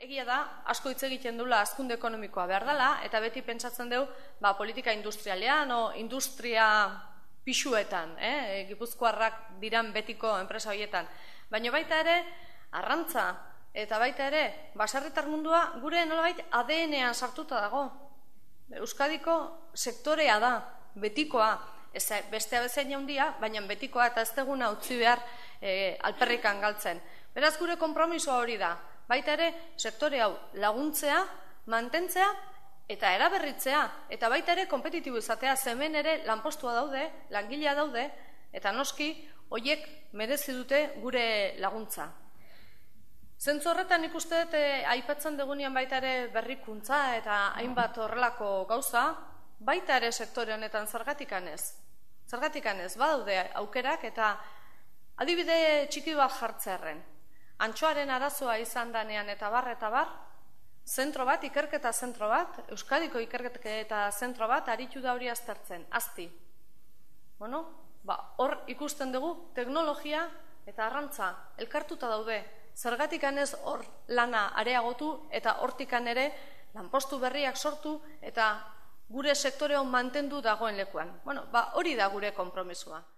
Egia da, asko hitz egiten dula hazkunde ekonomikoa behar dela, eta beti pentsatzen dugu politika industrialean o industria pisuetan, gipuzkoarrak diran betiko enpresa horietan. Baina baita ere, arrantza eta baita ere, baserritar mundua gure nolabait ADN-ean sartuta dago. Euskadiko sektorea da, betikoa, beste abezain handia, baina betikoa eta ez deguna utzi behar alperrikan galtzen. Beraz gure konpromisoa hori da. Baita ere, sektore hau laguntzea, mantentzea eta eraberritzea. Eta baita ere, kompetitibo izatea, hemen ere lanpostua daude, langilea daude, eta noski, horiek merezi dute gure laguntza. Zentzu horretan ikuste dut, aipatzen dugunean baita ere berrikuntza eta hainbat horrelako gauza, baita ere sektore honetan zergatikan ez. Zergatikan ez, badaude aukerak eta adibide txiki bat jartzearren. Antxoaren arazoa izan danean eta bar, zentro bat, ikerketa zentro bat, Euskadiko ikerketa zentro bat, aritu da hori aztertzen, azti. Hor ikusten dugu teknologia eta arrantza elkartuta daude. Zergatikan ez hor lana areagotu eta hortikan ere lanpostu berriak sortu eta gure sektorean mantendu dagoen lekuan. Hori da gure konpromisoa.